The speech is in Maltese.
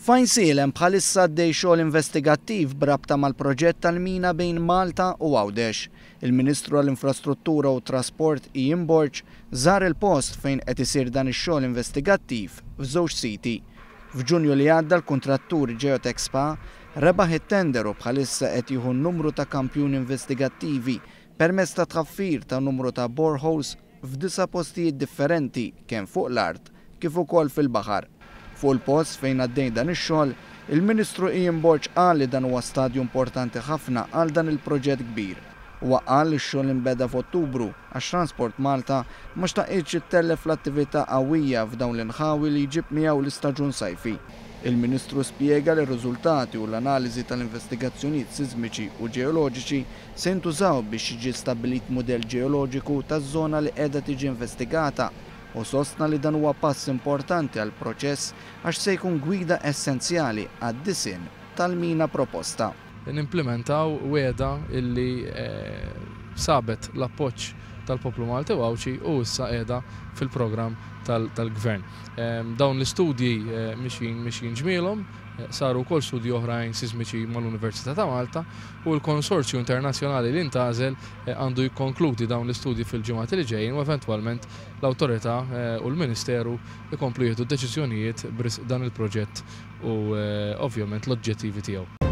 F'Għajnsielem bħalissa għaddej xogħol investigattiv b'rabta mal-proġett tal-mina bejn Malta u Għawdex. Il-Ministru għall-Infrastruttura u t-Trasport Ian Borg żar il-post fejn qed isir dan ix-xogħol investigattiv f'żewġ siti. F'Ġunju li għadda l-kuntrattur Geotech Spa rebaħ it-tender u bħalissa qed jieħu numru ta' kampjuni investigattivi permezz ta' tħaffir ta' numru ta' boreholes f'disa' postijiet differenti kemm fuq l-art kif ukoll fil-baħar. Fuq il-post fejn għaddej dan ix-xogħol, il-Ministru Ian Borg qal li dan huwa stadju importanti ħafna għal dan il-proġett kbir. Huwa qal li x-xogħol inbeda f'Ottubru għax Transport Malta ma xtaqitx ittellef l-attività qawwija f'dawn l-inħawi li jġib miegħu l-istaġun sajfi. Il-Ministru spjega li r-riżultati u l-analiżi tal-investigazzjonijiet sismiċi u ġeoloġiċi se jintużaw biex jiġi stabbilit mudell ġeoloġiku taż-żona li qiegħda tiġi investigata u sostna li dan huwa pass importanti għall-proċess għax se jkun gwida essenzjali għad-disinn tal-mina proposta. Nimplimentaw wegħda illi sabet l-appoġġ tal-poplu Malti u Għawdxi u issa qiegħda fil-programm tal-Gvern. Dawn l-istudji mixjin mixjin ġmielhom, saru wkoll studji oħrajn sismiċi mal-Università ta' Malta u l-konsorzju internazzjonali li ntgħażel għandu jikkonkludi dawn l-istudji fil-ġimgħat li ġejjin u eventwalment l-awtorità u l-Ministeru jkomplu jieħdu deċiżjonijiet b'risq dan il-proġett u ovvjament l-oġġettivi tiegħu.